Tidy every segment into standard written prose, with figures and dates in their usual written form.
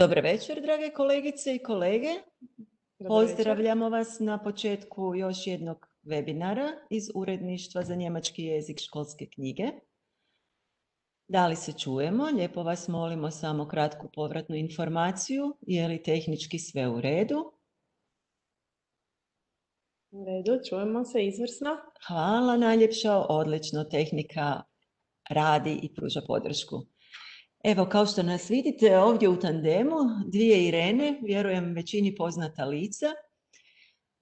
Dobar večer, drage kolegice i kolege. Dobar večer. Pozdravljamo vas na početku još jednog webinara iz Uredništva za njemački jezik školske knjige. Da li se čujemo? Lijepo vas molimo samo kratku povratnu informaciju. Je li tehnički sve u redu? U redu, čujemo se izvrsno. Hvala najljepša, odlično, tehnika radi i pruža podršku. Evo, kao što nas vidite ovdje u tandemu, dvije Irene, vjerujem većini poznata lica.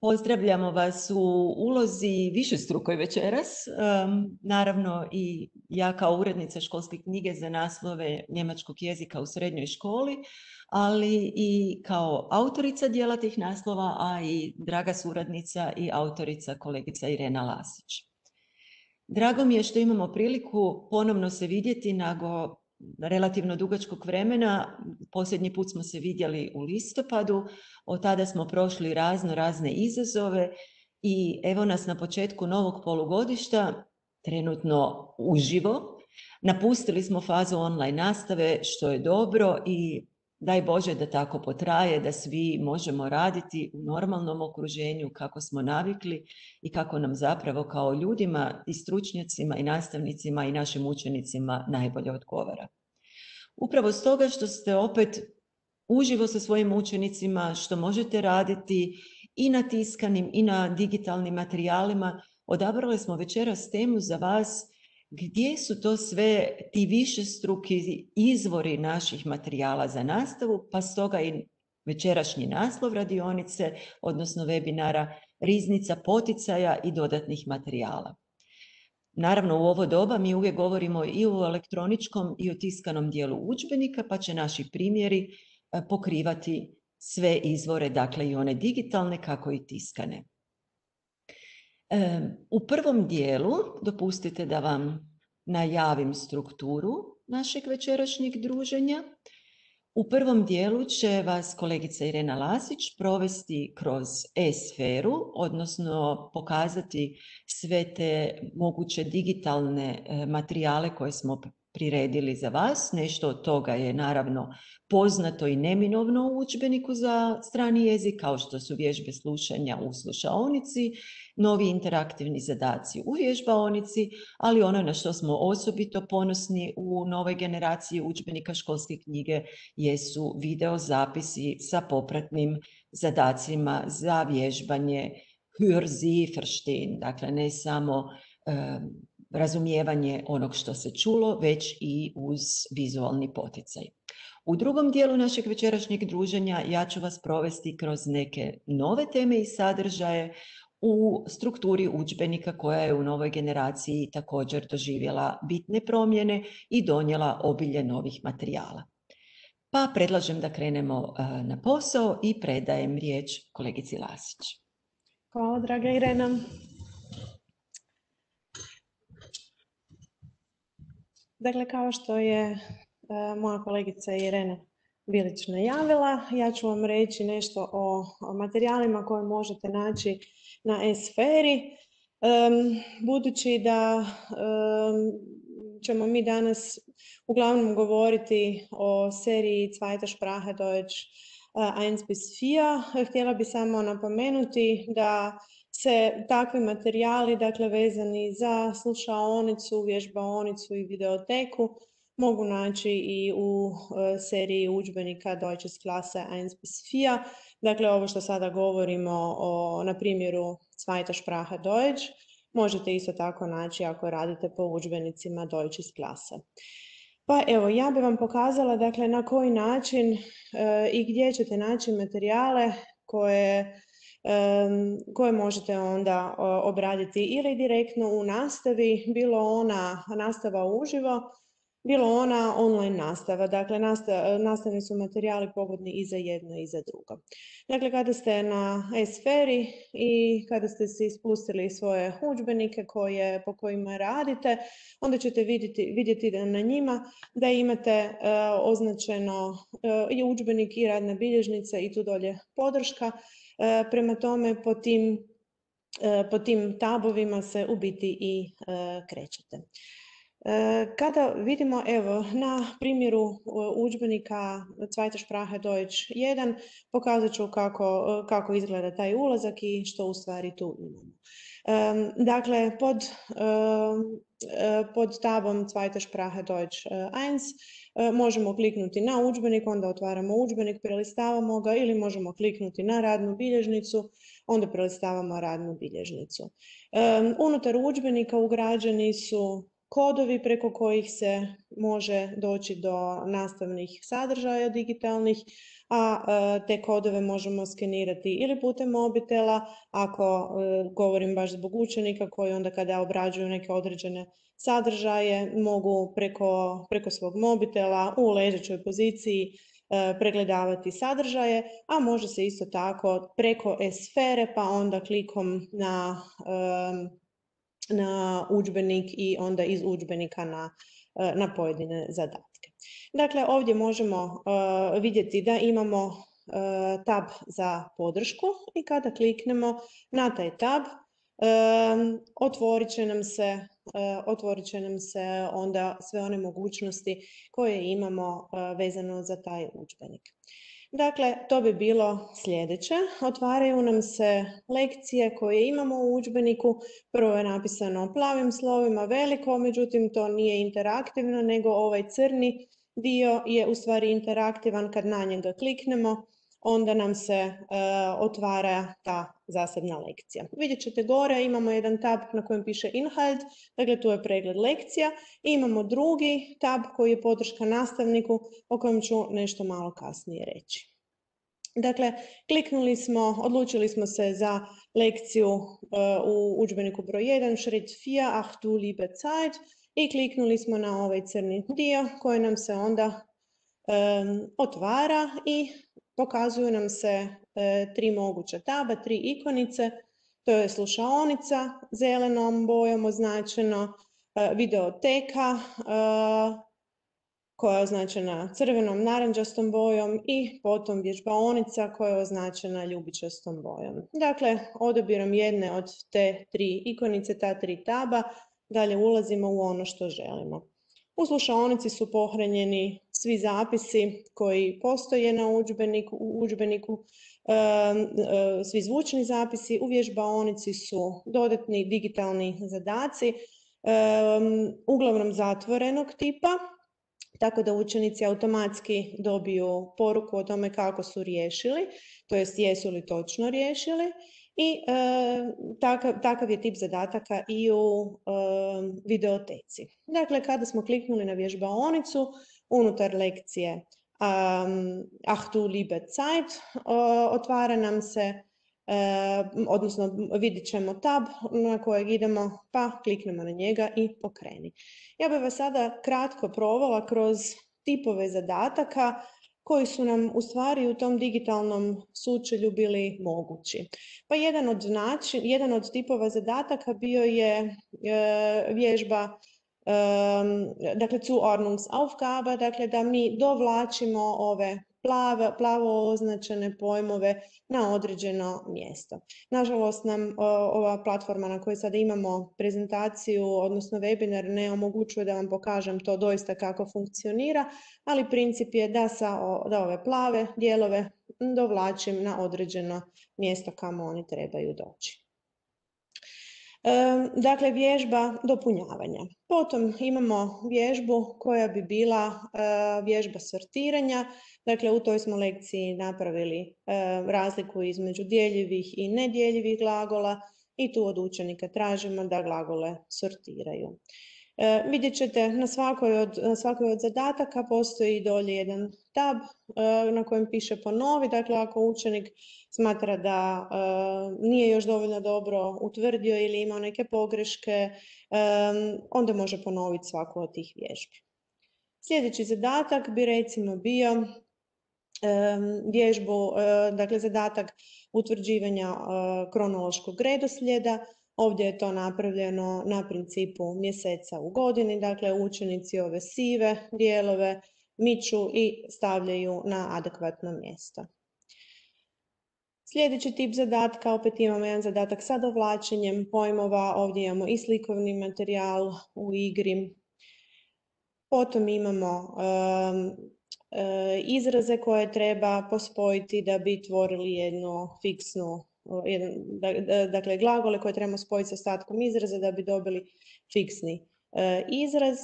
Pozdravljamo vas u ulozi višestrukoj večeras. Naravno i ja kao urednica školske knjige za naslove njemačkog jezika u srednjoj školi, ali i kao autorica dijela tih naslova, a i draga suradnica i autorica kolegica Irena Lasić. Drago mi je što imamo priliku ponovno se vidjeti nakon relativno dugačkog vremena. Posljednji put smo se vidjeli u listopadu, od tada smo prošli razne izazove i evo nas na početku novog polugodišta, trenutno uživo. Napustili smo fazu online nastave, što je dobro i daj Bože da tako potraje, da svi možemo raditi u normalnom okruženju kako smo navikli i kako nam zapravo kao ljudima i stručnjacima i nastavnicima i našim učenicima najbolje odgovara. Upravo stoga što ste opet uživo sa svojim učenicima, što možete raditi i na tiskanim i na digitalnim materijalima, odabrali smo večeras temu za vas gdje su to sve ti višestruki izvori naših materijala za nastavu, pa stoga i večerašnji naslov radionice, odnosno webinara, riznica poticaja i dodatnih materijala. Naravno, u ovo doba mi uvijek govorimo i o elektroničkom i o tiskanom dijelu udžbenika, pa će naši primjeri pokrivati sve izvore, dakle i one digitalne kako i tiskane. U prvom dijelu, dopustite da vam najavim strukturu našeg večerašnjeg druženja. U prvom dijelu će vas kolegica Irena Lasić provesti kroz e-sferu, odnosno pokazati sve te moguće digitalne materijale koje smo priredili za vas. Nešto od toga je naravno poznato i neminovno u udžbeniku za strani jezik, kao što su vježbe slušanja u slušaonici, novi interaktivni zadaci u vježbaonici, ali ono na što smo osobito ponosni u novoj generaciji udžbenika školske knjige jesu video zapisi sa popratnim zadacima za vježbanje Hör Sie verstehen, dakle ne samo razumijevanje onog što se čulo, već i uz vizualni poticaj. U drugom dijelu našeg večerašnjeg druženja ja ću vas provesti kroz neke nove teme i sadržaje u strukturi udžbenika koja je u novoj generaciji također doživjela bitne promjene i donijela obilje novih materijala. Pa predlažem da krenemo na posao i predajem riječ kolegici Lasić. Hvala, draga Irena. Dakle, kao što je moja kolegica Irena Bilić najavila, ja ću vam reći nešto o materijalima koje možete naći na e-sferi. Budući da ćemo mi danas uglavnom govoriti o seriji Zweite Sprache Deutsch 1 bis 4, htjela bi samo napomenuti da se takvi materijali, dakle vezani za slušaonicu, vježbaonicu i videoteku, mogu naći i u seriji udžbenika Deutsches Klasse 1 bis 4. Dakle, ovo što sada govorimo na primjeru Zweite Sprache Deutsch, možete isto tako naći ako radite po udžbenicima Deutsches Klasse. Pa evo, ja bih vam pokazala dakle, na koji način i gdje ćete naći materijale koje možete onda obraditi ili direktno u nastavi, bilo ona nastava uživo, bilo ona online nastava. Dakle, nastavni su materijali pogodni i za jedno i za drugo. Dakle, kada ste na e-sferi i kada ste si ispustili svoje udžbenike po kojima radite, onda ćete vidjeti da na njima da imate označeno i udžbenik i radna bilježnica i tu dolje podrška. Prema tome, po tim tabovima se u biti i krećete. Kada vidimo, evo, na primjeru udžbenika Zweite Sprache Deutsch 1, pokazat ću kako izgleda taj ulazak i što u stvari tu imamo. Dakle, pod tabom Zweite Sprache Deutsch 1 možemo kliknuti na udžbenik, onda otvaramo udžbenik, prelistavamo ga, ili možemo kliknuti na radnu bilježnicu, onda prelistavamo radnu bilježnicu. Unutar udžbenika ugrađeni su kodovi preko kojih se može doći do nastavnih sadržaja digitalnih, a te kodove možemo skenirati ili putem mobitela, ako govorim baš zbog učenika koji onda kada obrađuju neke određene sadržaje mogu preko svog mobitela u ležećoj poziciji pregledavati sadržaje, a može se isto tako preko e-sfere, pa onda klikom na udžbenik i onda iz udžbenika na pojedine zadatke. Dakle, ovdje možemo vidjeti da imamo tab za podršku i kada kliknemo na taj tab, otvorit će nam se onda sve one mogućnosti koje imamo vezano za taj udžbenik. Dakle, to bi bilo sljedeće. Otvaraju nam se lekcije koje imamo u udžbeniku. Prvo je napisano plavim slovima veliko, međutim to nije interaktivno, nego ovaj crni dio je u stvari interaktivan. Kad na njega kliknemo, onda nam se otvara ta zasebna lekcija. Vidjet ćete gore, imamo jedan tab na kojem piše Inhalt, dakle tu je pregled lekcija, i imamo drugi tab koji je podrška nastavniku, o kojem ću nešto malo kasnije reći. Dakle, odlučili smo se za lekciju u udžbeniku broj 1, Schritt 4, Ach du liebe Zeit, i kliknuli smo na ovaj crni dio koji nam se onda otvara i pokazuju nam se tri moguća taba, tri ikonice. To je slušaonica, zelenom bojom označeno, videoteka koja je označena crvenom, narančastom bojom, i potom vježbaonica koja je označena ljubičastom bojom. Dakle, odabirom jedne od te tri ikonice, ta tri taba, dalje ulazimo u ono što želimo. U slušaonici su pohranjeni svi zapisi koji postoje u udžbeniku, svi zvučni zapisi. U vježbaonici su dodatni digitalni zadaci, uglavnom zatvorenog tipa, tako da učenici automatski dobiju poruku o tome kako su riješili, to jest jesu li točno riješili, i takav je tip zadataka i u videoteci. Dakle, kada smo kliknuli na vježbaonicu, unutar lekcije Ach du liebe Zeit otvara nam se, odnosno vidjet ćemo tab na kojeg idemo, pa kliknemo na njega i pokreni. Ja bih vas sada kratko provela kroz tipove zadataka koji su nam u stvari u tom digitalnom sučelju bili mogući. Pa jedan od tipova zadataka bio je vježba, dakle Zuordnungsaufgabe, dakle da mi dovlačimo ove plavo označene pojmove na određeno mjesto. Nažalost nam ova platforma na kojoj sada imamo prezentaciju, odnosno webinar, ne omogućuje da vam pokažem to doista kako funkcionira, ali princip je da ove plave dijelove dovlačim na određeno mjesto kamo oni trebaju doći. Dakle, vježba dopunjavanja. Potom imamo vježbu koja bi bila vježba sortiranja. Dakle, u toj smo lekciji napravili razliku između djeljivih i nedjeljivih glagola i tu od učenika tražimo da glagole sortiraju. Vidjet ćete na svakoj od zadataka postoji dolje jedan tab na kojem piše ponovi. Dakle, ako učenik smatra da nije još dovoljno dobro utvrdio ili imao neke pogreške, onda može ponoviti svaku od tih vježbi. Sljedeći zadatak bi recimo bio dakle zadatak utvrđivanja kronološkog redoslijeda. Ovdje je to napravljeno na principu mjeseca u godini, dakle učenici ove sive dijelove miču i stavljaju na adekvatno mjesto. Sljedeći tip zadatka, opet imamo jedan zadatak sa dovlačenjem pojmova, ovdje imamo i slikovni materijal u igri. Potom imamo izraze koje treba pospojiti da bi tvorili jednu fiksnu, dakle glagole koje trebamo spojiti sa ostatkom izraza da bi dobili fiksni izraz.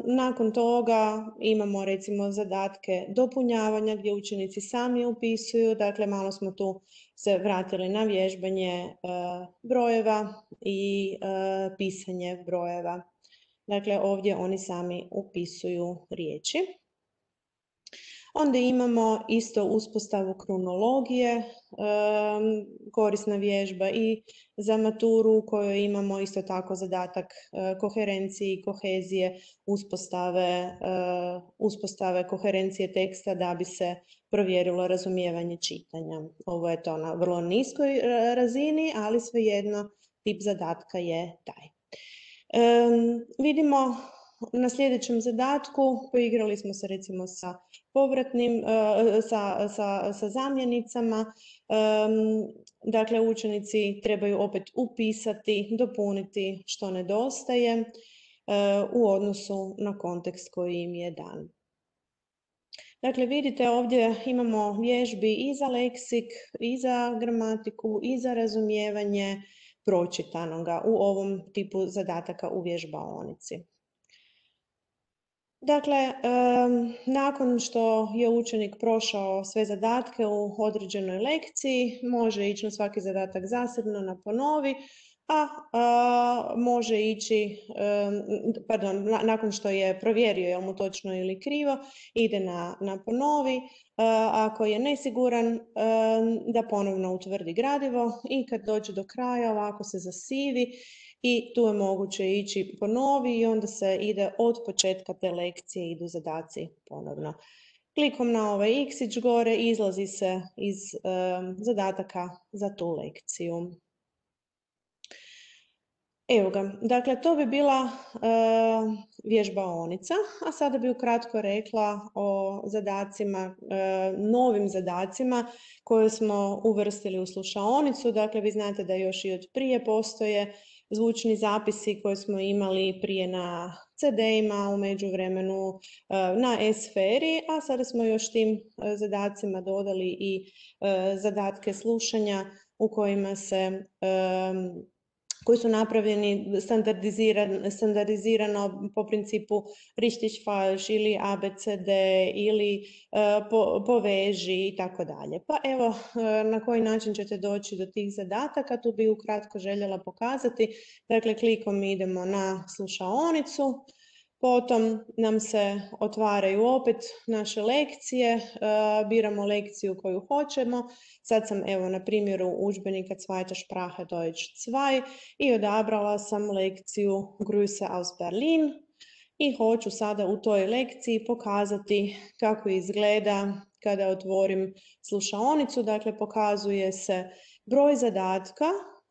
Nakon toga imamo recimo zadatke dopunjavanja gdje učenici sami upisuju, dakle malo smo tu se vratili na vježbanje brojeva i pisanje brojeva. Dakle, ovdje oni sami upisuju riječi. Onda imamo isto uspostavu kronologije, korisna vježba i za maturu u kojoj imamo isto tako zadatak koherencije i kohezije, uspostave koherencije teksta da bi se provjerilo razumijevanje čitanja. Ovo je to na vrlo niskoj razini, ali svejedno tip zadatka je taj. Vidimo na sljedećem zadatku, poigrali smo se recimo sa povratnim, sa zamjenicama, dakle učenici trebaju opet upisati, dopuniti što nedostaje u odnosu na kontekst koji im je dan. Dakle, vidite ovdje imamo vježbi i za leksik, i za gramatiku, i za razumijevanje pročitanoga u ovom tipu zadataka u vježbaonici. Dakle, nakon što je učenik prošao sve zadatke u određenoj lekciji, može ići na svaki zadatak zasebno na ponovi, a može ići, nakon što je provjerio je li mu točno ili krivo, ide na ponovi. Ako je nesiguran, da ponovno utvrdi gradivo i kad dođe do kraja ovako se zasivi i tu je moguće ići ponovi i onda se ide od početka te lekcije, idu zadaci ponovno. Klikom na ovaj x gore izlazi se iz zadataka za tu lekciju. Evo ga, dakle to bi bila vježbaonica, a sada bi ukratko rekla o zadacima, novim zadacima koje smo uvrstili u slušaonicu. Dakle, vi znate da još i od prije postoje zvučni zapisi koje smo imali prije na CD-ima, u međuvremenu na e-sferi, a sada smo još tim zadacima dodali i zadatke slušanja u kojima se koji su napravljeni standardizirano po principu richtig falsch ili ABCD ili poveži i tako dalje. Pa evo na koji način ćete doći do tih zadataka, tu bi ukratko željela pokazati. Dakle, klikom idemo na slušaonicu, potom nam se otvaraju opet naše lekcije, biramo lekciju koju hoćemo. Sad sam evo na primjeru udžbenika Zweite Sprache Deutsch 2 i odabrala sam lekciju Grüße aus Berlin i hoću sada u toj lekciji pokazati kako izgleda kada otvorim slušaonicu. Dakle, pokazuje se broj zadatka,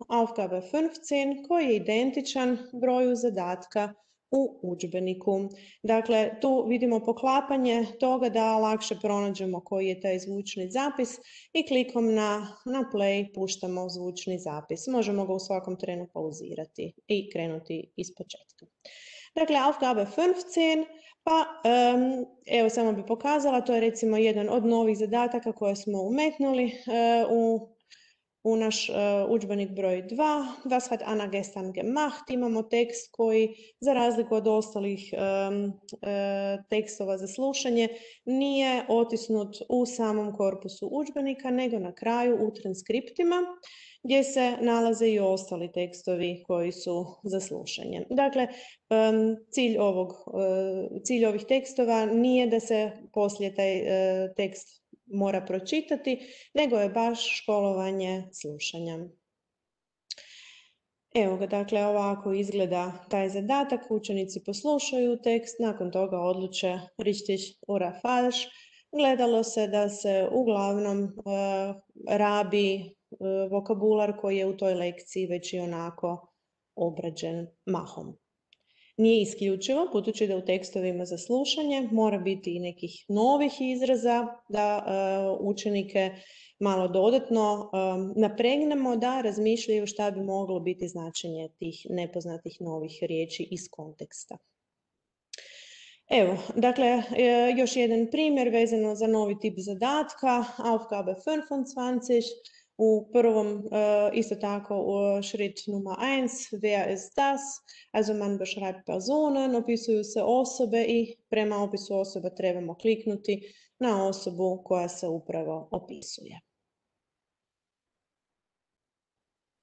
Aufgabe 15, koji je identičan broju zadatka u udžbeniku. Dakle, tu vidimo poklapanje toga da lakše pronađemo koji je taj zvučni zapis i klikom na play puštamo zvučni zapis. Možemo ga u svakom trenu pauzirati i krenuti iz početka. Dakle, Aufgabe 15, pa evo samo bi pokazala, to je recimo jedan od novih zadataka koje smo umetnuli u naš udžbenik broj 2, Was hat Anna gestern gemacht? Imamo tekst koji, za razliku od ostalih tekstova za slušanje, nije otisnut u samom korpusu udžbenika, nego na kraju u transkriptima, gdje se nalaze i ostali tekstovi koji su za slušanje. Dakle, cilj ovih tekstova nije da se poslije taj tekst mora pročitati, nego je baš školovanje slušanja. Evo ga, dakle, ovako izgleda taj zadatak. Učenici poslušaju tekst, nakon toga odluče richtig oder falsch. Gledalo se da se uglavnom rabi vokabular koji je u toj lekciji već i onako obrađen mahom. Nije isključivo, budući da u tekstovima za slušanje mora biti i nekih novih izraza da učenike malo dodatno napregnemo da razmišljaju šta bi moglo biti značenje tih nepoznatih novih riječi iz konteksta. Evo, dakle, još jedan primjer vezano za novi tip zadatka, Aufgabe 25. U prvom, isto tako, Schritt Nummer 1, wer ist das? Also man beschreibt Personen, opisuju se osobe i prema opisu osoba trebamo kliknuti na osobu koja se upravo opisuje.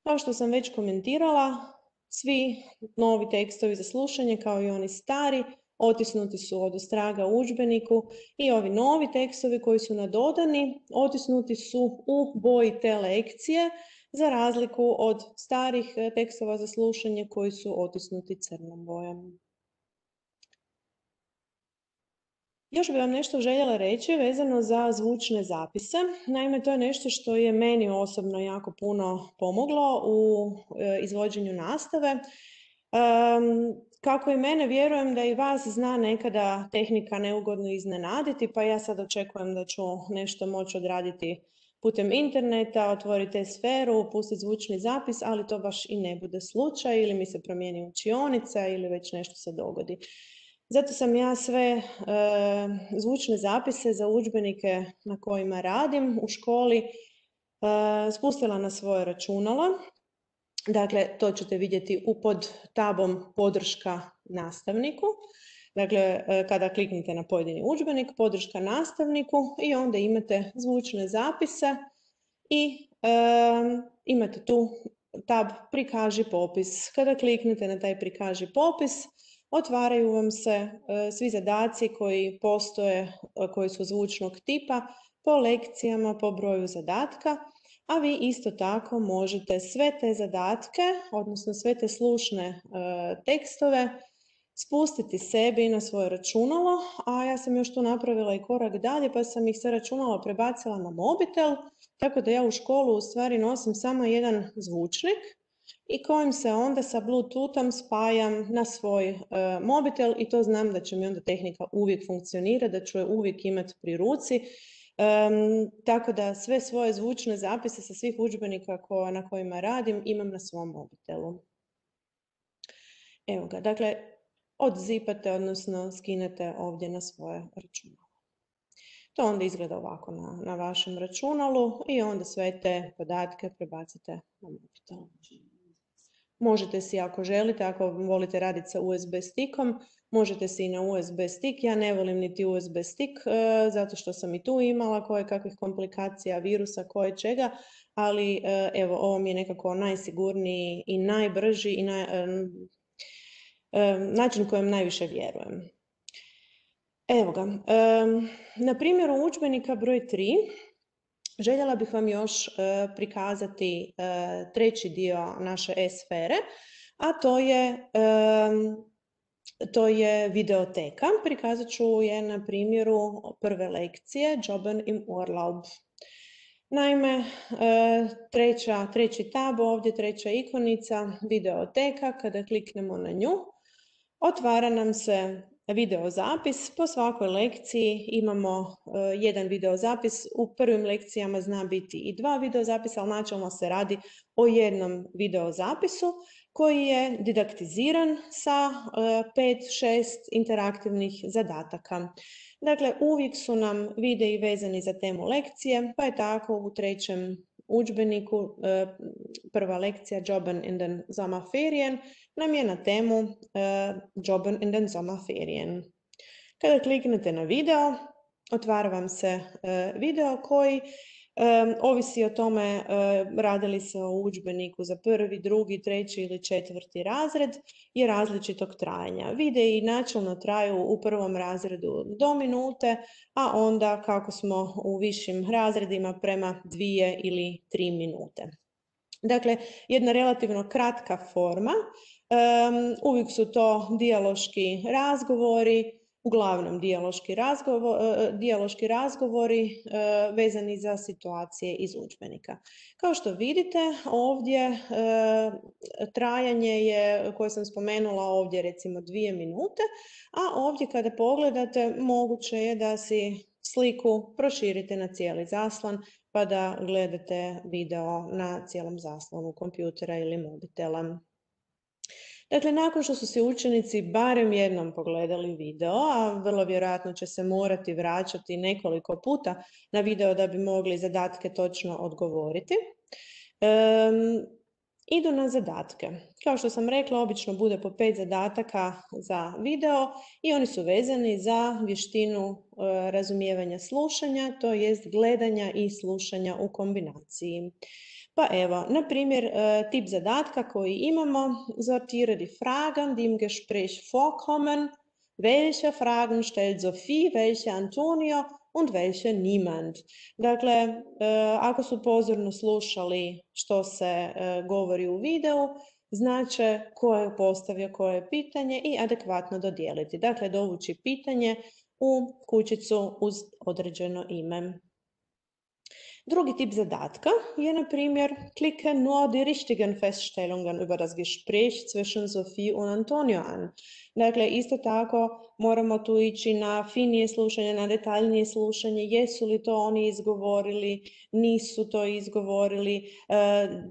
Kao što sam već komentirala, svi novi tekstovi za slušanje, kao i oni stari, otisnuti su od ostraga u udžbeniku i ovi novi tekstovi koji su nadodani, otisnuti su u boji te lekcije, za razliku od starih tekstova za slušanje koji su otisnuti crnom bojom. Još bih vam nešto željela reći vezano za zvučne zapise. Naime, to je nešto što je meni osobno jako puno pomoglo u izvođenju nastave. Kako i mene, vjerujem da i vas zna nekada tehnika neugodno iznenaditi, pa ja sad očekujem da ću nešto moći odraditi putem interneta, otvoriti sferu, pustiti zvučni zapis, ali to baš i ne bude slučaj, ili mi se promijeni učionica ili već nešto se dogodi. Zato sam ja sve zvučne zapise za udžbenike na kojima radim u školi spustila na svoje računalo. Dakle, to ćete vidjeti pod tabom podrška nastavniku. Dakle, kada kliknete na pojedini udžbenik, podrška nastavniku i onda imate zvučne zapise i imate tu tab prikaži popis. Kada kliknete na taj prikaži popis, otvaraju vam se svi zadaci koji postoje, koji su zvučnog tipa, po lekcijama, po broju zadatka, a vi isto tako možete sve te zadatke, odnosno sve te slušne tekstove, spustiti sebi na svoje računalo, a ja sam još tu napravila i korak dalje, pa sam ih sa računala prebacila na mobitel, tako da ja u školu u stvari nosim samo jedan zvučnik i kojim se onda sa Bluetoothom spajam na svoj mobitel i to znam da će mi onda tehnika uvijek funkcionirati, da ću je uvijek imati pri ruci. Tako da sve svoje zvučne zapise sa svih udžbenika na kojima radim imam na svom mobitelu. Evo ga, dakle, odzipate, odnosno skinete ovdje na svoje računalo. To onda izgleda ovako na vašem računalu i onda sve te podatke prebacite na mobitel. Možete si, ako želite, ako volite raditi sa USB stickom, možete si i na USB stick. Ja ne volim niti USB stick, zato što sam i tu imala kakvih komplikacija, virusa, koje čega, ali evo, ovo mi je nekako najsigurniji i najbrži i način kojem najviše vjerujem. Evo ga, na primjeru udžbenika broj 3, željela bih vam još prikazati treći dio naše e-sfere, a to je videoteka. Prikazat ću je na primjeru prve lekcije, Jobben im Urlaub. Naime, treći tab, ovdje treća ikonica, videoteka, kada kliknemo na nju, otvara nam se videozapis. Po svakoj lekciji imamo jedan videozapis. U prvim lekcijama zna biti i 2 videozapisa, ali načelno se radi o jednom videozapisu koji je didaktiziran sa 5-6 interaktivnih zadataka. Dakle, uvijek su nam videi vezani za temu lekcije, pa je tako u trećem udžbeniku prva lekcija Jobben in den Sommerferien nam je na temu Jobben in den Sommerferien. Kada kliknete na video, otvara vam se video koji ovisi o tome radi li se o udžbeniku za prvi, drugi, treći ili četvrti razred, je različitog trajanja. Videi načelno traju u prvom razredu do minute, a onda kako smo u višim razredima prema 2 ili 3 minute. Dakle, jedna relativno kratka forma, uvijek su to dijaloški razgovori, uglavnom dijaloški razgovori vezani za situacije iz udžbenika. Kao što vidite, ovdje trajanje je, koje sam spomenula ovdje, recimo 2 minute, a ovdje kada pogledate, moguće je da si sliku proširite na cijeli zaslon, pa da gledate video na cijelom zaslonu kompjutera ili mobitela. Dakle, nakon što su se učenici barem jednom pogledali video, a vrlo vjerojatno će se morati vraćati nekoliko puta na video da bi mogli zadatke točno odgovoriti, idu na zadatke. Kao što sam rekla, obično bude po 5 zadataka za video i oni su vezani za vještinu razumijevanja slušanja, to jest gledanja i slušanja u kombinaciji. Pa evo, na primjer, tip zadatka koji imamo, sortiere die Fragen, die im Gespräch vorkommen, welche Fragen stellt Sophie, welche Antonio und welche niemand. Dakle, ako su pozorno slušali što se govori u videu, znače ko je postavio koje pitanje i adekvatno dodijeliti. Dakle, dovući pitanje u kućicu uz određeno ime. Drugi tip zadatka je, na primjer, klicke nur die richtigen Feststellungen über das Gespräch zwischen Sophie und Antonio an. Dakle, isto tako moramo tu ići na finije slušanje, na detaljnije slušanje, jesu li to oni izgovorili, nisu to izgovorili,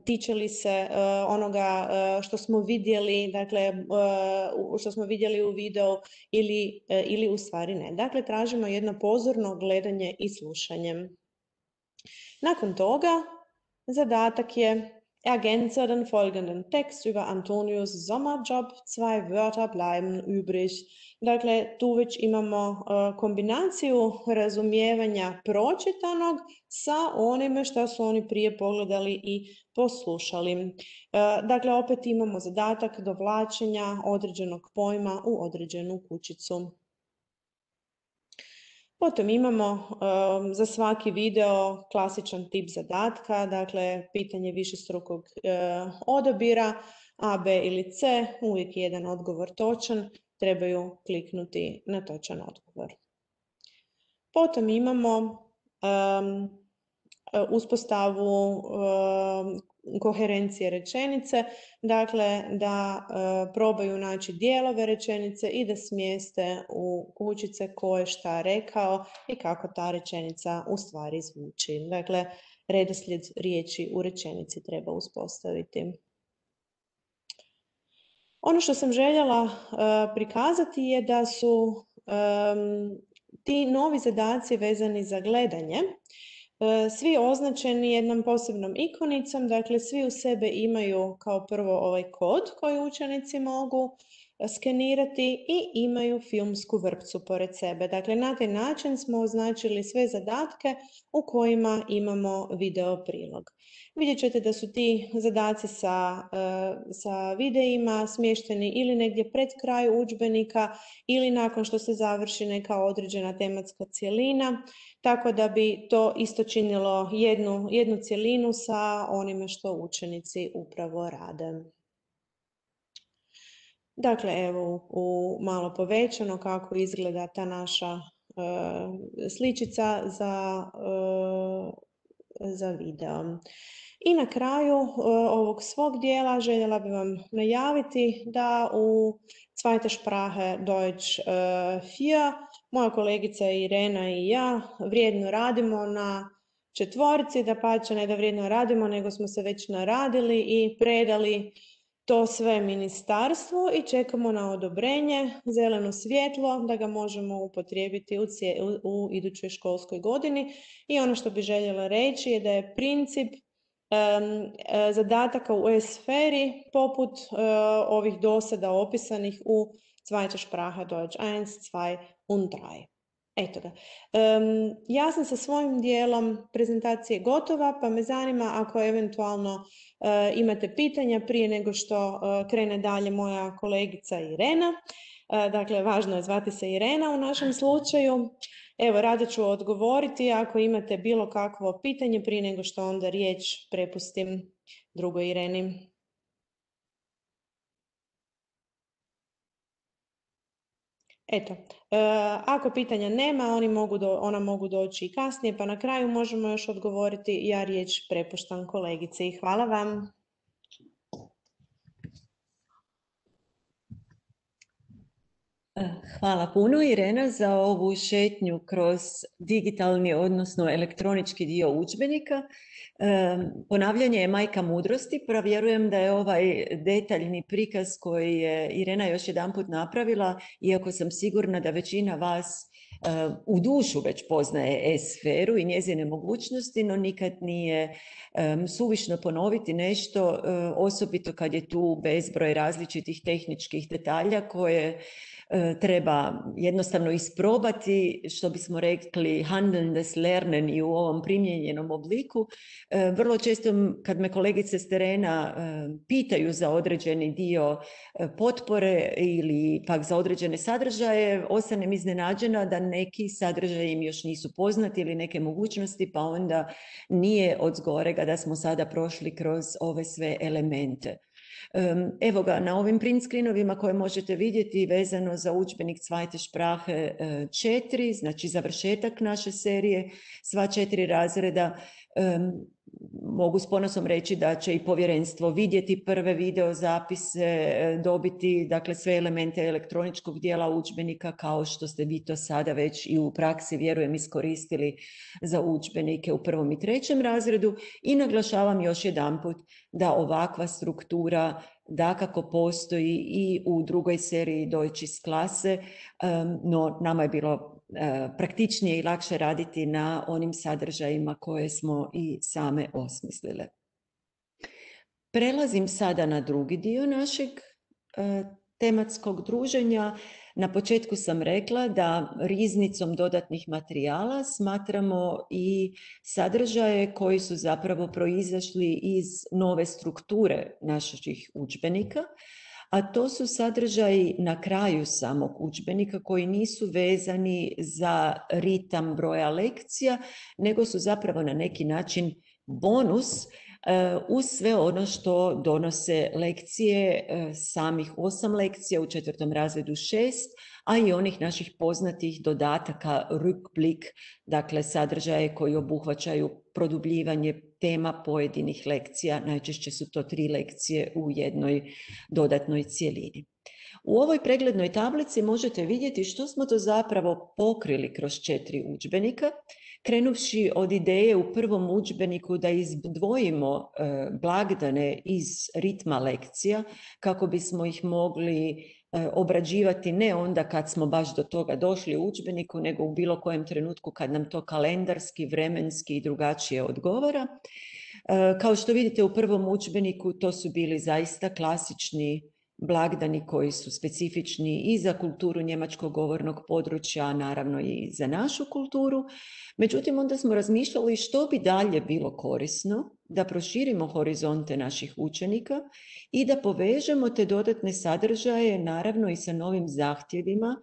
tiče li se onoga što smo vidjeli, dakle, što smo vidjeli u videu ili u stvari ne. Dakle, tražimo jedno pozorno gledanje i slušanje. Nakon toga, zadatak je ergänze den folgenden Text über Antonius Sommerjob, 2 Wörter bleiben übrig. Dakle, tu već imamo kombinaciju razumijevanja pročitanog sa onime što su oni prije pogledali i poslušali. Dakle, opet imamo zadatak dovlačenja određenog pojma u određenu kućicu. Potom imamo za svaki video klasičan tip zadatka, dakle pitanje višestrukog odabira, A, B ili C, uvijek jedan odgovor točan, trebaju kliknuti na točan odgovor. Potom imamo uspostavu koherencije rečenice, dakle da probaju naći dijelove rečenice i da smjeste u kućice ko je šta rekao i kako ta rečenica u stvari zvuči. Dakle, redoslijed riječi u rečenici treba uspostaviti. Ono što sam željela prikazati je da su ti novi zadaci vezani za gledanje svi označeni jednom posebnom ikonicom, dakle svi u sebe imaju kao prvo ovaj kod koji učenici mogu skenirati i imaju filmsku vrpcu pored sebe. Dakle, na taj način smo označili sve zadatke u kojima imamo video prilog. Vidjet ćete da su ti zadaci sa videima smješteni ili negdje pred kraj udžbenika ili nakon što se završi neka određena tematska cjelina, tako da bi to isto činilo jednu cjelinu sa onime što učenici upravo rade. Dakle, evo u malo povećano kako izgleda ta naša sličica za video. I na kraju ovog svog dijela željela bih vam najaviti da u Zweite Sprache Deutsch 4 moja kolegica Irena i ja vrijedno radimo na četvorici, dapače ne da vrijedno radimo, nego smo se već naradili i predali to sve ministarstvu i čekamo na odobrenje, zeleno svjetlo da ga možemo upotrijebiti u idućoj školskoj godini. I ono što bih željela reći je da je princip zadataka u E-sferi poput ovih dosada opisanih u Zweite Sprache Deutsch 1, 2 und 3. Eto ga. Ja sam sa svojim dijelom prezentacije gotova, pa me zanima ako eventualno imate pitanja prije nego što krene dalje moja kolegica Irena. Dakle, važno je zvati se Irena u našem slučaju. Evo, rado ću odgovoriti ako imate bilo kakvo pitanje prije nego što onda riječ prepustim drugoj Ireni. Eto, ako pitanja nema, ona mogu doći i kasnije, pa na kraju možemo još odgovoriti. Ja riječ prepuštam kolegici. Hvala vam. Hvala puno, Irena, za ovu šetnju kroz digitalni, odnosno elektronički dio udžbenika. Ponavljanje je majka mudrosti, pa vjerujem da je ovaj detaljni prikaz koji je Irena još jedanput napravila, iako sam sigurna da većina vas u dušu već poznaje e-sferu i njezine mogućnosti, no nikad nije suvišno ponoviti nešto, osobito kad je tu bezbroj različitih tehničkih detalja koje treba jednostavno isprobati, što bismo rekli handeln des lernen i u ovom primijenjenom obliku. Vrlo često kad me kolegice s terena pitaju za određeni dio potpore ili pak za određene sadržaje, ostanem iznenađena da neki sadržaji im još nisu poznati ili neke mogućnosti, pa onda nije od zgorega da smo sada prošli kroz ove sve elemente. Evo ga, na ovim print screenovima koje možete vidjeti vezano za udžbenik Zweite Sprache 4, znači završetak naše serije, sva 4 razreda. Mogu s ponosom reći da će i povjerenstvo vidjeti prve video zapise, dobiti dakle sve elemente elektroničkog dijela udžbenika kao što ste vi to sada već i u praksi, vjerujem, iskoristili za udžbenike u 1. i 3. razredu. I naglašavam još jedanput da ovakva struktura dakako postoji i u 2. seriji Deutsches Klasse, no nama je bilo praktičnije i lakše raditi na onim sadržajima koje smo i same osmislile. Prelazim sada na drugi dio našeg tematskog druženja. Na početku sam rekla da riznicom dodatnih materijala smatramo i sadržaje koji su zapravo proizašli iz nove strukture naših udžbenika, a to su sadržaji na kraju samog udžbenika koji nisu vezani za ritam broja lekcija, nego su zapravo na neki način bonus uz sve ono što donose lekcije, samih 8 lekcija, u 4. razredu 6, a i onih naših poznatih dodataka Rückblick, dakle sadržaje koji obuhvaćaju produbljivanje tema pojedinih lekcija, najčešće su to 3 lekcije u jednoj dodatnoj cjelini. U ovoj preglednoj tablici možete vidjeti što smo to zapravo pokrili kroz 4 udžbenika, krenuvši od ideje u 1. udžbeniku da izdvojimo blagdane iz ritma lekcija kako bismo ih mogli obrađivati ne onda kad smo baš do toga došli u udžbeniku, nego u bilo kojem trenutku kad nam to kalendarski, vremenski i drugačije odgovara. Kao što vidite u 1. udžbeniku to su bili zaista klasični blagdani koji su specifični i za kulturu njemačkog govornog područja, naravno i za našu kulturu. Međutim, onda smo razmišljali što bi dalje bilo korisno da proširimo horizonte naših učenika i da povežemo te dodatne sadržaje, naravno i sa novim zahtjevima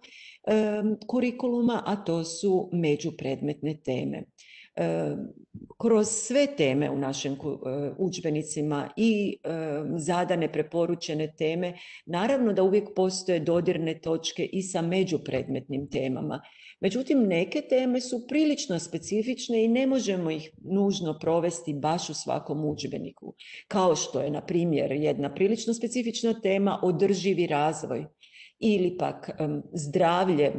kurikuluma, a to su međupredmetne teme. Kroz sve teme u našim udžbenicima i zadane preporučene teme, naravno da uvijek postoje dodirne točke i sa međupredmetnim temama. Međutim, neke teme su prilično specifične i ne možemo ih nužno provesti baš u svakom udžbeniku. Kao što je, na primjer, jedna prilično specifična tema održivi razvoj ili pak zdravlje.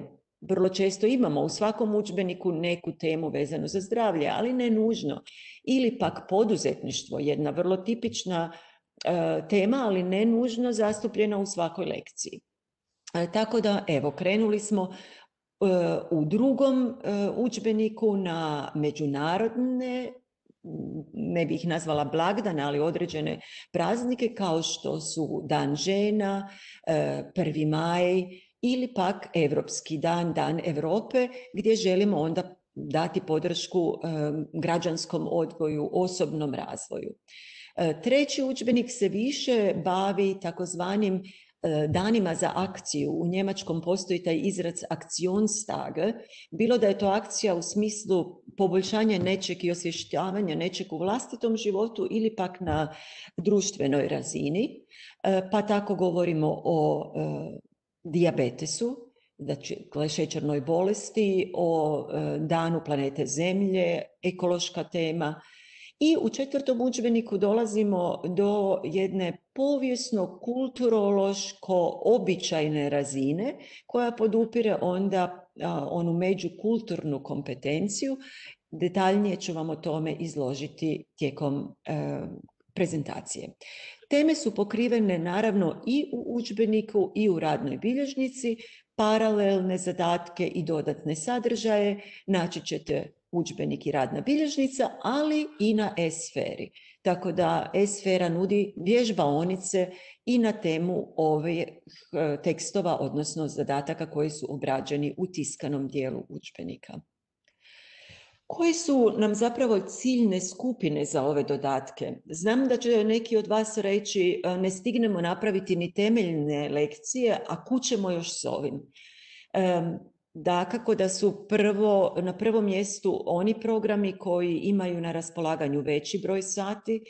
Vrlo često imamo u svakom udžbeniku neku temu vezanu za zdravlje, ali ne nužno. Ili pak poduzetništvo, jedna vrlo tipična tema, ali ne nužno zastupljena u svakoj lekciji. Tako da, evo, krenuli smo u 2. udžbeniku na međunarodne, ne bih ih nazvala blagdane, ali određene praznike kao što su Dan žena, 1. maj, ili pak Europski dan, Dan Europe, gdje želimo onda dati podršku građanskom odgoju, osobnom razvoju. 3. udžbenik se više bavi takozvanim danima za akciju. U njemačkom postoji taj izraz Aktionstage, bilo da je to akcija u smislu poboljšanja nečeg i osvještavanja nečeg u vlastitom životu ili pak na društvenoj razini, pa tako govorimo o dijabetesu, znači šećernoj bolesti, o danu planete Zemlje, ekološka tema, I u 4. udžbeniku dolazimo do jedne povijesno-kulturološko-običajne razine koja podupire onda onu međukulturnu kompetenciju. Detaljnije ću vam o tome izložiti tijekom prezentacije. Teme su pokrivene naravno i u udžbeniku i u radnoj bilježnici, paralelne zadatke i dodatne sadržaje naći ćete udžbenik i radna bilježnica, ali i na e-sferi. Tako da e-sfera nudi vježbaonice i na temu ovih tekstova, odnosno zadataka koji su obrađeni u tiskanom dijelu udžbenika. Koji su nam zapravo ciljne skupine za ove dodatke? Znam da će neki od vas reći ne stignemo napraviti ni temeljne lekcije, a kud ćemo još s ovim? Dakako da su na prvom mjestu oni programi koji imaju na raspolaganju veći broj sati,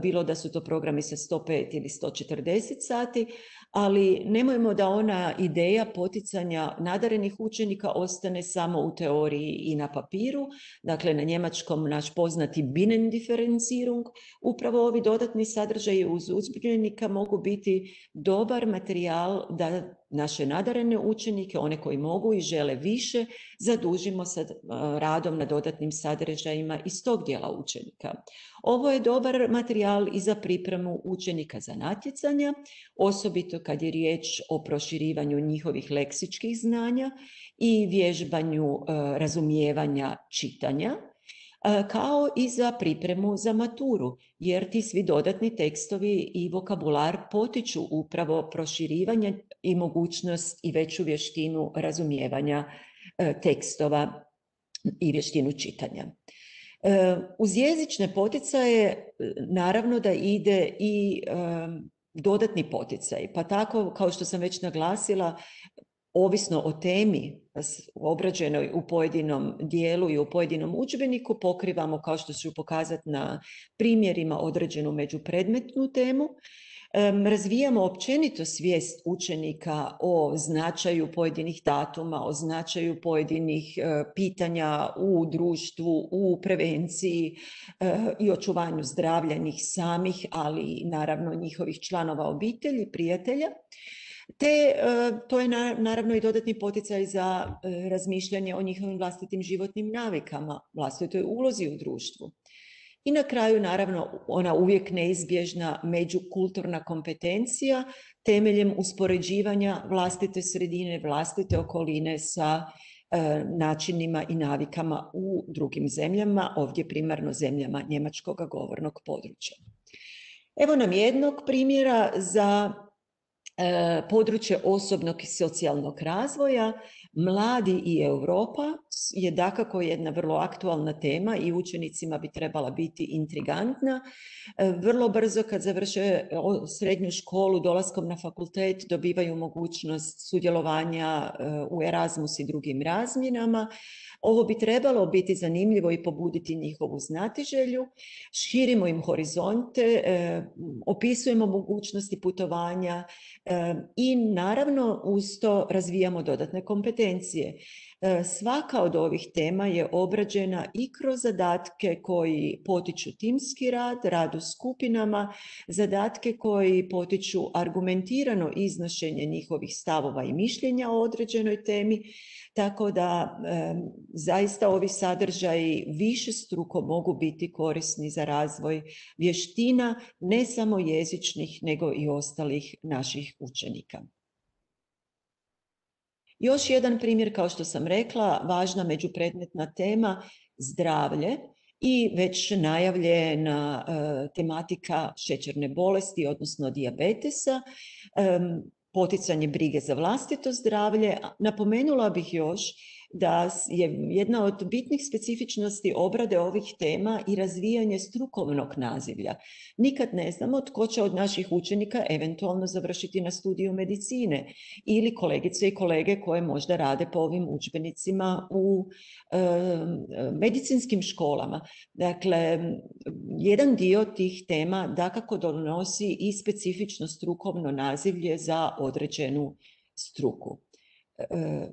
bilo da su to programi sa 105 ili 140 sati, ali nemojmo da ona ideja poticanja nadarenih učenika ostane samo u teoriji i na papiru. Dakle, na njemačkom naš poznati Binnendifferenzierung, upravo ovi dodatni sadržaji uz udžbenika mogu biti dobar materijal da naše nadarene učenike, one koji mogu i žele više, zadužimo sa radom na dodatnim sadržajima iz tog dijela učenika. Ovo je dobar materijal i za pripremu učenika za natjecanja, osobito kad je riječ o proširivanju njihovih leksičkih znanja i vježbanju razumijevanja čitanja, kao i za pripremu za maturu, jer ti svi dodatni tekstovi i vokabular potiču upravo proširivanje i mogućnost i veću vještinu razumijevanja tekstova i vještinu čitanja. Uz jezične poticaje naravno da ide i dodatni poticaj, pa tako kao što sam već naglasila, ovisno o temi obrađenoj u pojedinom dijelu i u pojedinom udžbeniku, pokrivamo, kao što ću pokazati na primjerima, određenu međupredmetnu temu. Razvijamo općenito svijest učenika o značaju pojedinih datuma, o značaju pojedinih pitanja u društvu, u prevenciji i očuvanju zdravlja njih samih, ali naravno njihovih članova obitelji, prijatelja. Te to je naravno i dodatni poticaj za razmišljanje o njihovim vlastitim životnim navikama, vlastitoj ulozi u društvu. I na kraju naravno ona uvijek neizbježna međukulturna kompetencija temeljem uspoređivanja vlastite sredine, vlastite okoline sa načinima i navikama u drugim zemljama, ovdje primarno zemljama njemačkog govornog područja. Evo nam jednog primjera za područje osobnog i socijalnog razvoja. Mladi i Europa je dakako jedna vrlo aktualna tema i učenicima bi trebala biti intrigantna. Vrlo brzo kad završe srednju školu, dolaskom na fakultet dobivaju mogućnost sudjelovanja u Erasmus i drugim razmjenama. Ovo bi trebalo biti zanimljivo i pobuditi njihovu znatiželju, širimo im horizonte, opisujemo mogućnosti putovanja i naravno uz to razvijamo dodatne kompetencije. Svaka od ovih tema je obrađena i kroz zadatke koji potiču timski rad, rad u skupinama, zadatke koji potiču argumentirano iznošenje njihovih stavova i mišljenja o određenoj temi, tako da zaista ovi sadržaji višestruko mogu biti korisni za razvoj vještina, ne samo jezičnih, nego i ostalih naših učenika. Još jedan primjer, kao što sam rekla, važna međupredmetna tema, zdravlje i već najavljena tematika šećerne bolesti, odnosno dijabetesa, poticanje brige za vlastito zdravlje. Napomenula bih još da je jedna od bitnih specifičnosti obrade ovih tema i razvijanje strukovnog nazivlja. Nikad ne znamo tko će od naših učenika eventualno završiti na studiju medicine ili kolegice i kolege koje možda rade po ovim udžbenicima u medicinskim školama. Dakle, jedan dio tih tema dakako donosi i specifično strukovno nazivlje za određenu struku.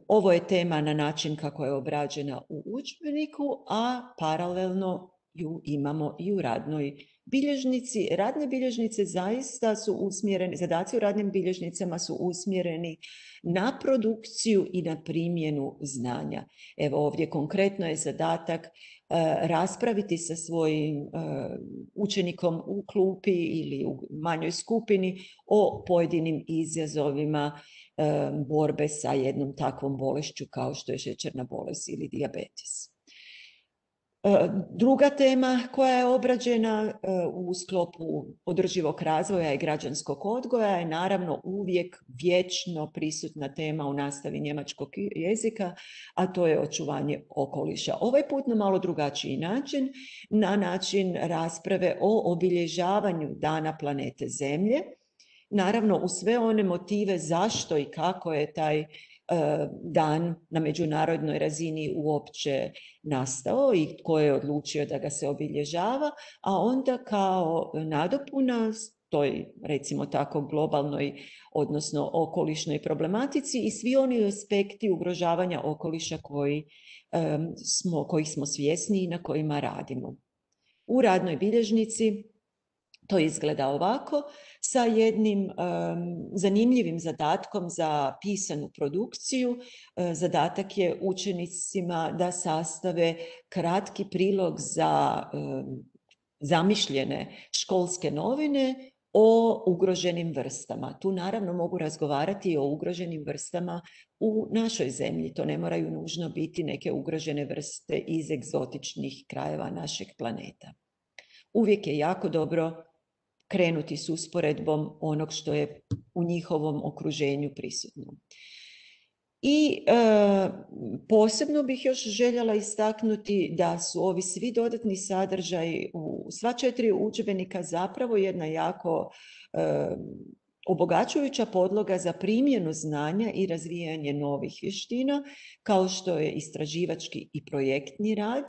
Ovo je tema na način kako je obrađena u udžbeniku, a paralelno ju imamo i u radnoj bilježnici. Radne bilježnice zaista su usmjerene, zadaci u radnim bilježnicama su usmjereni na produkciju i na primjenu znanja. Evo ovdje konkretno je zadatak raspraviti sa svojim učenikom u klupi ili u manjoj skupini o pojedinim izazovima borbe sa jednom takvom bolešću kao što je šećerna bolest ili dijabetes. Druga tema koja je obrađena u sklopu održivog razvoja i građanskog odgoja je naravno uvijek vječno prisutna tema u nastavi njemačkog jezika, a to je očuvanje okoliša. Ovaj put na malo drugačiji način, na način rasprave o obilježavanju Dana planete Zemlje, naravno u sve one motive zašto i kako je taj dan na međunarodnoj razini uopće nastao i tko je odlučio da ga se obilježava, a onda kao nadopuna toj, recimo tako, globalnoj, odnosno okolišnoj problematici i svi oni aspekti ugrožavanja okoliša kojih smo svjesni i na kojima radimo. U radnoj bilježnici to izgleda ovako, sa jednim zanimljivim zadatkom za pisanu produkciju. Zadatak je učenicima da sastave kratki prilog za zamišljene školske novine o ugroženim vrstama. Tu naravno mogu razgovarati o ugroženim vrstama u našoj zemlji. To ne moraju nužno biti neke ugrožene vrste iz egzotičnih krajeva našeg planeta. Uvijek je jako dobro krenuti s usporedbom onog što je u njihovom okruženju prisutno. I posebno bih još željela istaknuti da su ovi svi dodatni sadržaji u sva 4 udžbenika zapravo jedna jako obogaćujuća podloga za primjenu znanja i razvijanje novih vještina, kao što je istraživački i projektni rad,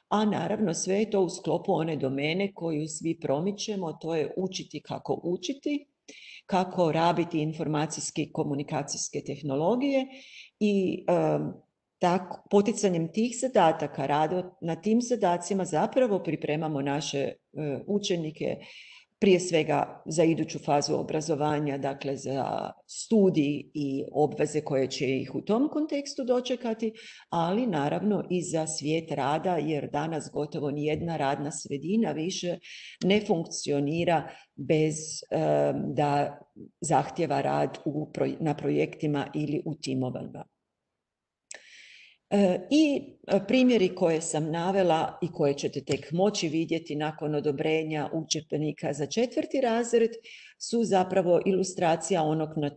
a naravno sve je to u sklopu one domene koju svi promičemo, to je učiti kako učiti, kako rabiti informacijske i komunikacijske tehnologije i poticanjem tih zadataka, rada na tim zadacima zapravo pripremamo naše učenike prije svega za iduću fazu obrazovanja, dakle za studij i obveze koje će ih u tom kontekstu dočekati, ali naravno i za svijet rada, jer danas gotovo nijedna radna sredina više ne funkcionira bez da zahtjeva rad na projektima ili u timovima. I primjeri koje sam navela i koje ćete tek moći vidjeti nakon odobrenja udžbenika za 4. razred su zapravo ilustracija onog na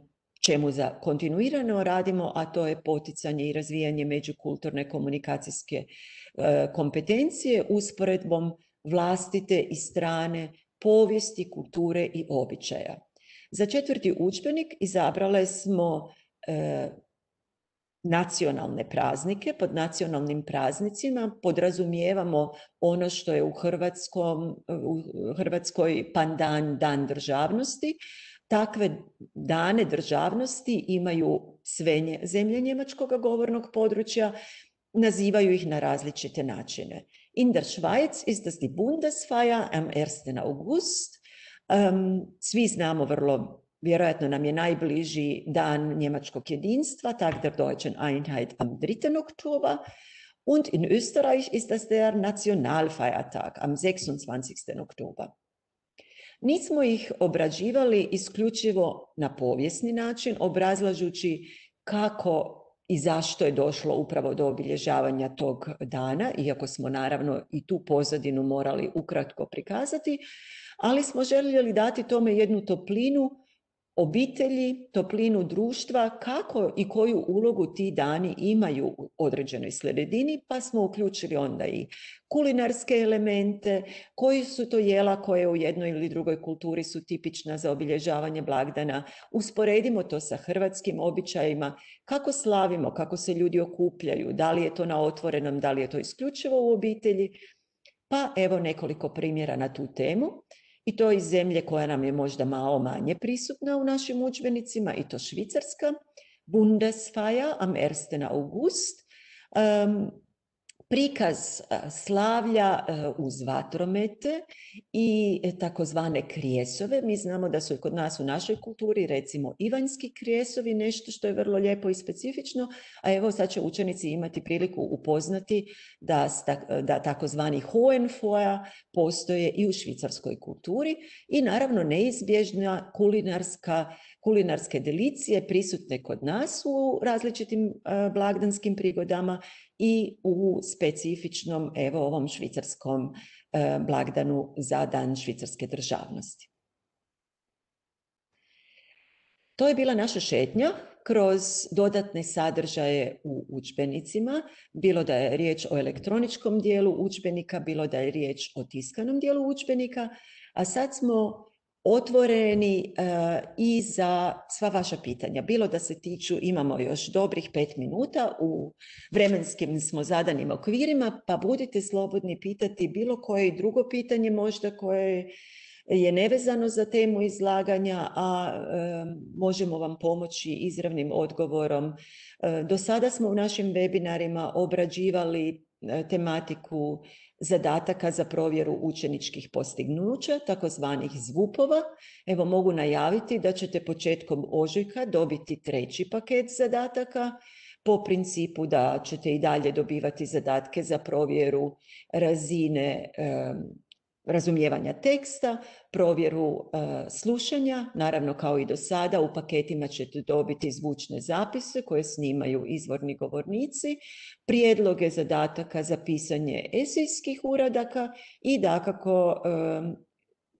čemu kontinuirano radimo, a to je poticanje i razvijanje međukulturne komunikacijske kompetencije usporedbom vlastite i strane povijesti, kulture i običaja. Za 4. udžbenik izabrale smo nacionalne praznike. Pod nacionalnim praznicima podrazumijevamo ono što je u Hrvatskoj pandan, dan državnosti. Takve dane državnosti imaju sve zemlje njemačkog govornog područja, nazivaju ih na različite načine. In der Schweiz ist das die Bundesfeier am 1. August. Svi znamo vjerojatno nam je najbliži dan njemačkog jedinstva, Tag der Deutschen Einheit am 3. Oktober. Und in Österreich ist das der Nationalfeiertag am 26. Oktober. Nismo ih obrađivali isključivo na povijesni način, obrazlažući kako i zašto je došlo upravo do obilježavanja tog dana, iako smo naravno i tu pozadinu morali ukratko prikazati, ali smo željeli dati tome jednu toplinu obitelji, toplinu društva, kako i koju ulogu ti dani imaju u određenoj sredini, pa smo uključili onda i kulinarske elemente, koji su to jela koje u jednoj ili drugoj kulturi su tipična za obilježavanje blagdana. Usporedimo to sa hrvatskim običajima, kako slavimo, kako se ljudi okupljaju, da li je to na otvorenom, da li je to isključivo u obitelji. Pa evo nekoliko primjera na tu temu. I to iz zemlje koja nam je možda malo manje prisutna u našim udžbenicima, i to Švicarska. Bundesfeier am 1. August. prikaz slavlja uz vatromete i takozvane krijesove. Mi znamo da su kod nas u našoj kulturi recimo ivanjski krijesovi nešto što je vrlo lijepo i specifično, a evo sad će učenici imati priliku upoznati da takozvani Hohenfeuer postoje i u švicarskoj kulturi i naravno neizbježna kulinarske delicije prisutne kod nas u različitim blagdanskim prigodama i u specifičnom, evo, ovom švicarskom blagdanu za Dan švicarske državnosti. To je bila naša šetnja kroz dodatne sadržaje u udžbenicima, bilo da je riječ o elektroničkom dijelu udžbenika, bilo da je riječ o tiskanom dijelu udžbenika, a sad smo otvoreni i za sva vaša pitanja. Bilo da se tiču, imamo još dobrih 5 minuta, u vremenskim smo zadanim okvirima, pa budite slobodni pitati bilo koje drugo pitanje možda koje je nevezano za temu izlaganja, a možemo vam pomoći izravnim odgovorom. Do sada smo u našim webinarima obrađivali tematiku zadataka za provjeru učeničkih postignuća, takozvanih zvupova. Evo, mogu najaviti da ćete početkom ožujka dobiti 3. paket zadataka, po principu da ćete i dalje dobivati zadatke za provjeru razine razumijevanja teksta, provjeru slušanja, naravno kao i do sada u paketima ćete dobiti zvučne zapise koje snimaju izvorni govornici, prijedloge zadataka za pisanje esejskih uradaka i dakako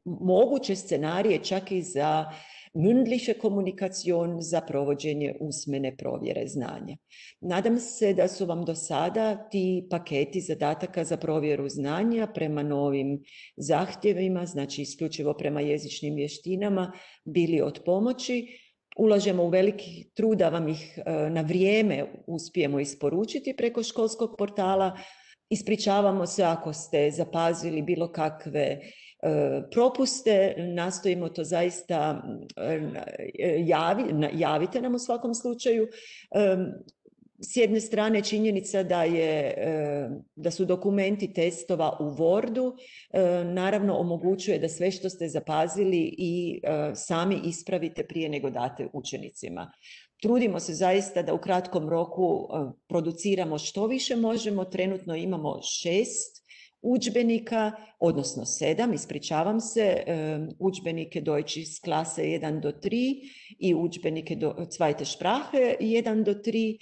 moguće scenarije čak i za mündliche Kommunikation, za provođenje usmene provjere znanja. Nadam se da su vam do sada ti paketi zadataka za provjeru znanja prema novim zahtjevima, znači isključivo prema jezičnim vještinama, bili od pomoći. Ulažemo u veliki trud da vam ih na vrijeme uspijemo isporučiti preko školskog portala. Ispričavamo se ako ste zapazili bilo kakve propuste, nastojimo to zaista, javite nam u svakom slučaju. S jedne strane činjenica da su dokumenti testova u Wordu, naravno omogućuje da sve što ste zapazili i sami ispravite prije nego date učenicima. Trudimo se zaista da u kratkom roku produciramo što više možemo. Trenutno imamo 6 udžbenika, odnosno 7, ispričavam se, udžbenike Deutsch iz klase 1 do 3 i udžbenike Zweite Sprache 1 do 3,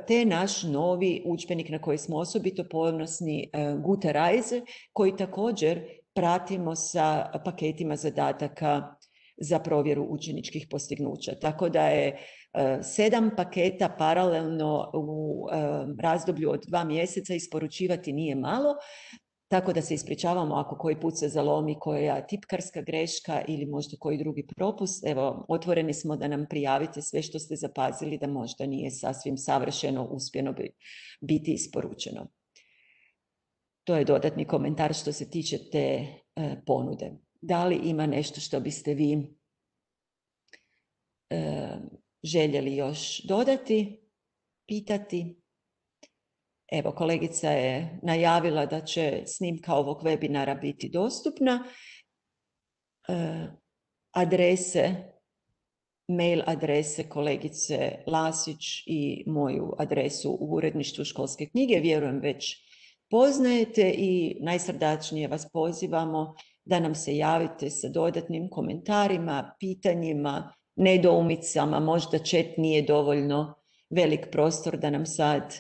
te naš novi udžbenik na koji smo osobito ponosni, Gute Reise, koji također pratimo sa paketima zadataka za provjeru učeničkih postignuća. Tako da je 7 paketa paralelno u razdoblju od 2 mjeseca isporučivati nije malo, tako da se ispričavamo ako koji put se zalomi koja tipkarska greška ili možda koji drugi propust. Evo, otvoreni smo da nam prijavite sve što ste zapazili da možda nije sasvim savršeno uspjeno biti isporučeno. To je dodatni komentar što se tiče te ponude. Da li ima nešto što biste vi željeli još dodati, pitati? Evo, kolegica je najavila da će snimka ovog webinara biti dostupna. Mail adrese kolegice Lasić i moju adresu u uredništvu Školske knjige vjerujem već poznajete i najsrdačnije vas pozivamo da nam se javite sa dodatnim komentarima, pitanjima, nedoumicama. Možda chat nije dovoljno velik prostor da nam sad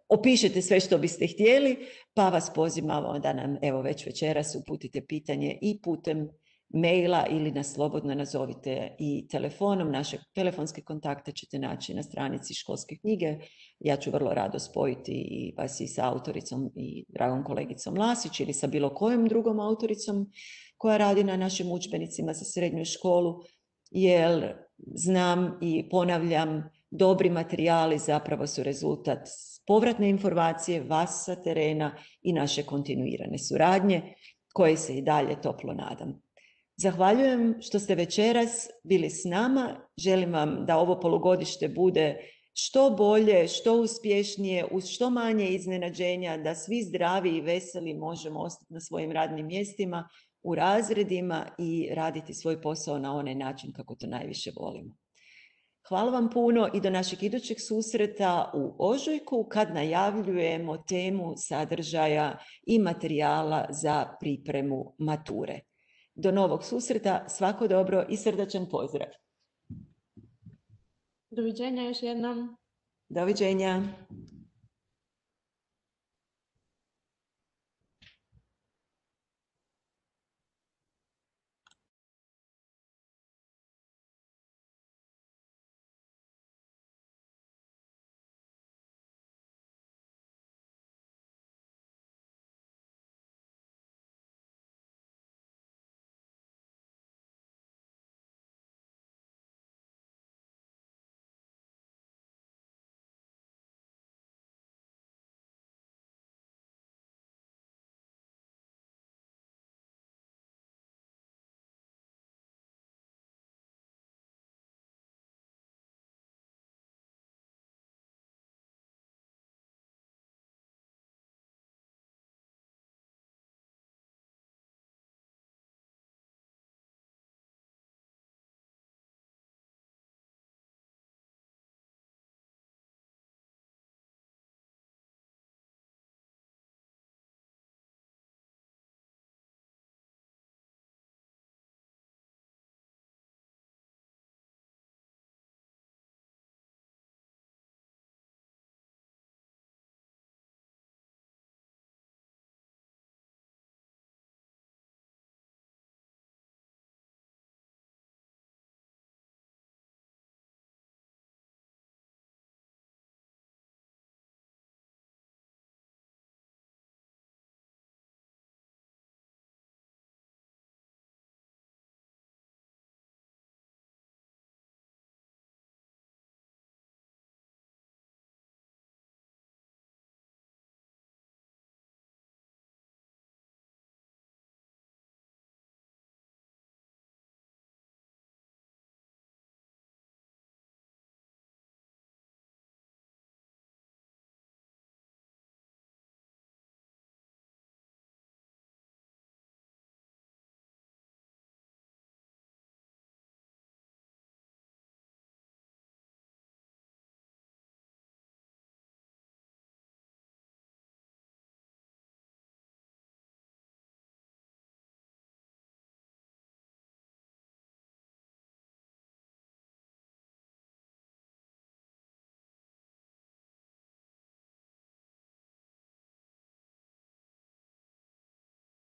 opišete sve što biste htjeli, pa vas pozivamo da nam evo već večeras uputite pitanje i putem maila ili nas slobodno nazovite i telefonom. Naše telefonske kontakte ćete naći na stranici Školske knjige. Ja ću vrlo rado spojiti i vas i sa autoricom i dragom kolegicom Lasić ili sa bilo kojom drugom autoricom koja radi na našim udžbenicima za srednju školu, jer znam i ponavljam, dobri materijali zapravo su rezultat povratne informacije vas sa terena i naše kontinuirane suradnje koje se i dalje toplo nadam. Zahvaljujem što ste večeras bili s nama. Želim vam da ovo polugodište bude što bolje, što uspješnije, uz što manje iznenađenja, da svi zdravi i veseli možemo ostati na svojim radnim mjestima, u razredima i raditi svoj posao na onaj način kako to najviše volimo. Hvala vam puno i do našeg idućeg susreta u ožujku kad najavljujemo temu sadržaja i materijala za pripremu mature. Do novog susreta, svako dobro i srdačan pozdrav. Doviđenja još jednom. Doviđenja.